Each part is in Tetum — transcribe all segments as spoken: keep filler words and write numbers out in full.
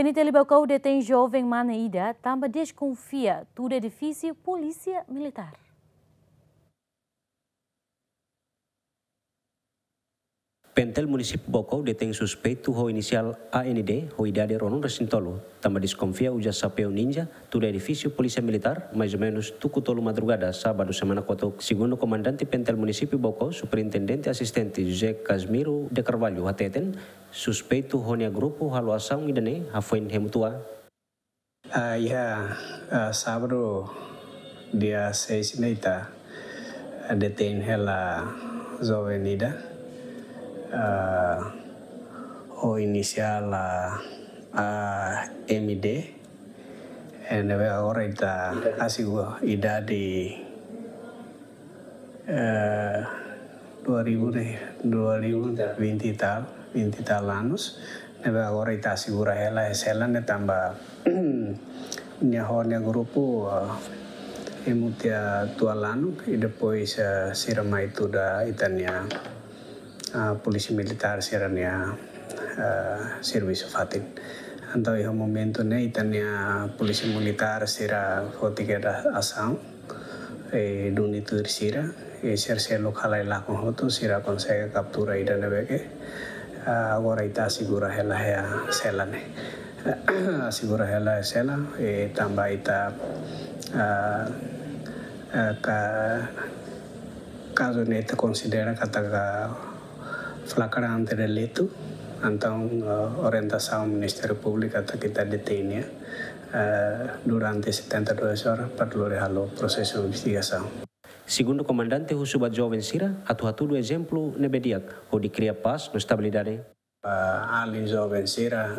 P N T L Baucau detein joven mane ida tanba deskonfia tuda edifísiu Polísia Militár. P N T L Munisípiu Baucau detein suspeitu ho inisiál A N D ho idade ruanulu-resin-tolu, tanba deskonfia uza xapeu ninja tuda edifísiu Polísia Militár, mais ou menus tuku tolu madrugada, sábadu semana kotuk. Segundu Komandante P N T L Munisípiu Baucau, Superintendente Asistente José Casmiro de Carvalho hateten, suspeitu ho nia grupu halo asaun ida-ne'e hafoin hemu tua. Ah, iha, ah, sábadu, dia seis ne'e ita, ah, detein hela joven ida, ah, ho inisiál, ah, A M D, eh, ne'ebé agora ita asegura idade, eh, dua ribu ne'e, dua ribu, vinte e tal, vinte e tal anos. Ne'ebé agora ita asegura hela iha sela ne'e tanba nia ho nia grupu, eh, hemu tiha tua lanuk, i depois, eh, sira mai tuda ita-nia, ah, Polísia Militár sira-nia, ah, servisu fatin. Entaun iha momentu ne'e ita-nia Polísia Militár sira foti kedas asaun, eh, duni tuir sira, eh, sira seluk halai lakon hotu, sira konsege kaptura ida ne'ebé ke, ah, agora ita asegura hela iha sela ne'e. Asegura hela iha sela, eh, tanba ita, ah, ah, ka-, kazu ne'e ita konsidera katak flagrante delitu, entaun, eh, orientasaun Ministériu Públiku katak ita detein nia, eh, durante setenta e duas horas para lori halo prosesu investigasaun. Segundu Komandante, husu ba joven sira atu hatudu ezemplu ne'ebé di'ak hodi kria pás no estabilidade. Ah, alin joven sira,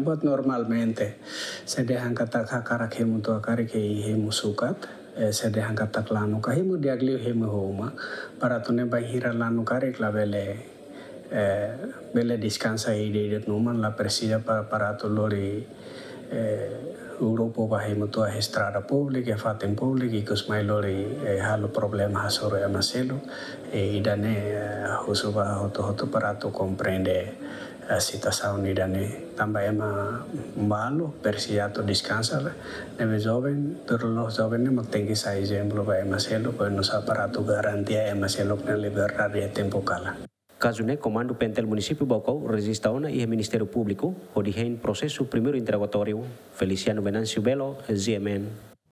buat normalmente, se dehan katak hakarak hemu tua karik hemu sukat, eh, se dehan katak lanuk ka hemu di'ak liu hemu ho uma, para atu ne'e bainhira lanuk karik labele, eh, bele deskansa ida-idak no uma, la presiza pa-, para atu lori, eh, grupu ba hemu tua iha estrada públika, iha fatin públiku, ikus mai lori, eh, halo problema hasoru ema seluk, eh, ida-ne'e, eh, husu ba hotu-hotu para atu komprende, eh, situasaun ida-ne'e. Tanba ema balu presiza atu deskansa, ne'ebé joven, tuir loloos joven ne'e mak tenke sai ezemplu ba ema seluk, para atu garantia ema seluk nia liberdade iha tempu kalan. Kazu ne'e Komandu P N T L Munisípiu Baucau rejista ona iha Ministériu Públiku, hodi hein prosesu primeiru interrogatóriu. Feliciano Venâncio Belo, G M N.